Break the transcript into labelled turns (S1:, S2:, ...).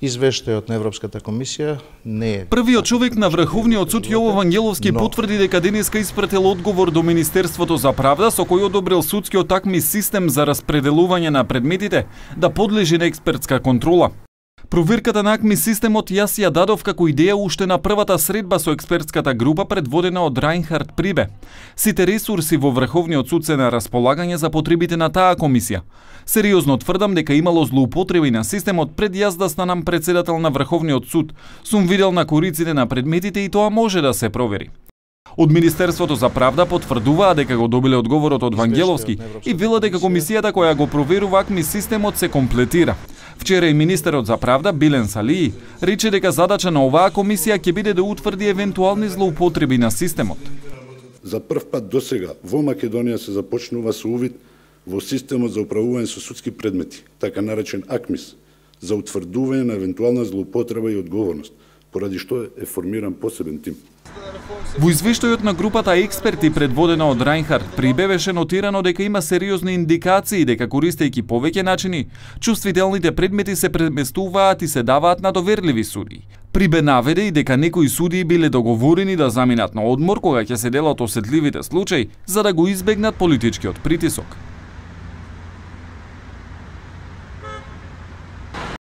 S1: Извештајот на Европската комисија не е.
S2: Првиот човек на Врховниот суд Јово Вангеловски потврди дека денеска испратил одговор до Министерството за правда со кој одобрил судскиот такмис систем за распределување на предметите да подлежи на експертска контрола. Проверката на АКМИ системот јас ја дадов како идеја уште на првата средба со експертската група предводена од Рајнхард Прибе. Сите ресурси во Врховниот суд се на располагање за потребите на таа комисија. Сериозно тврдам дека имало злоупотреби на системот пред јас да станам председател на Врховниот суд. Сум видел на кориците на предметите и тоа може да се провери. Од Министерството за правда потврдуваа дека го добиле одговорот од Вангеловски и велат дека комисијата која го проверува АКМИ системот се комплетира. Вчера и министерот за правда Билен Салии рече дека задача на оваа комисија ќе биде да утврди евентуални злоупотреби на системот.
S3: За прв пат досега во Македонија се започнува со увид во системот за управување со судски предмети, така наречен АКМИС, за утврдување на евентуална злоупотреба и одговорност, поради што е формиран посебен тим.
S2: Во извештајот на групата експерти предводена од Рајнхард Прибе беше нотирано дека има сериозни индикации дека користејќи повеќе начини, чувствителните предмети се преместуваат и се даваат на доверливи судии. Прибе наведе и дека некои судии биле договорени да заминат на одмор кога ќе се делат осетливите случаи за да го избегнат политичкиот притисок.